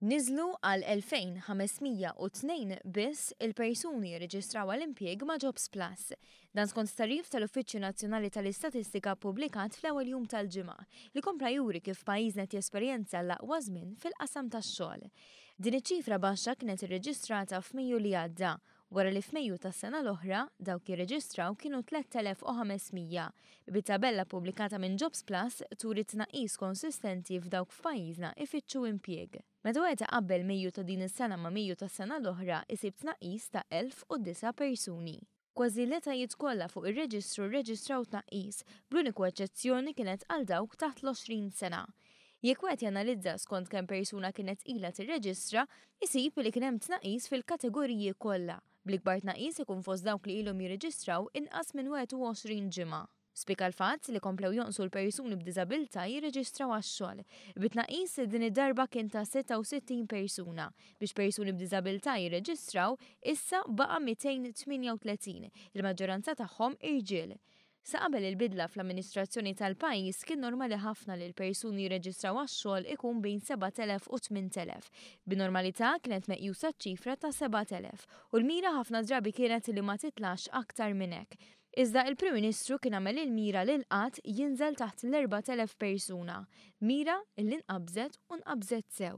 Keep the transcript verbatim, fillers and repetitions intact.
Niżlu għal elfejn ħames mija u tnejn biss il-persuni jirreġistraw għal impjieg ma' Jobs Plus. Dan skont tagħrif tal-Uffiċċju Nazzjonali tal-Istatistika ppubblikat fl-ewwel jum tal-ġimgħa li kompla juri kif pajjiżna qed jesperjenza l-aqwa żmien fil-qasam tax-xogħol. Din iċ-ċifra baxxa kienet irreġistrata f'Mejju li għadda, wara li f'Mejju tas-sena l-oħra dawk jirreġistraw kienu tlett elef u ħames mija. Bit-tabella pubblikata minn Jobs Plus turi tnaqqis konsistenti f'dawk f'pajjiżna ifittxu impjieg. Meta wieħed iqabbel Mejju ta' din is-sena ma' Mejju tas-sena l-oħra isib tnaqqis ta' elf u disa' persuni. Kważi l-etajiet kollha fuq ir-reġistru rreġistraw tnaqqis, bl-uniku eċċezzjoni kienet għal dawk taħt l-għoxrin sena. Jekk wieħed janalizza skont kemm persuna kienet ilha tirreġistra, isib li kien hemm tnaqqis fil-kategoriji kollha, bl-ikbar tnaqqis ikun fost dawk li ilhom jirreġistraw inqas minn wieħed u għoxrin ġimgħa. Spika l-fatt li komplew jonqsu l-persuni b'diżabilità jirreġistraw għax-xogħol. Bit-tnaqqis din id-darba kien ta' sitta u sittin persuna. Biex persuni b'diżabilità jirreġistraw, issa baqa' mitejn tmienja u tletin, il-maġġoranza tagħhom irġiel. Sa qabel il-bidla fl-amministrazzjoni tal-pajjiż kien normali ħafna li l-persuni jirreġistraw għax-xogħol ikun bejn sebat elef u tmint elef. B'normalità kienet meqjusa ċifra ta' sebat elef u l-mira ħafna drabi kienet li ma titlax aktar minn hekk. Iżda il-Prim Ministru kien għamel il-mira li l-qgħad jinżel taħt l-erbat elef persuna, mira li nqabżet u nqabżet sew.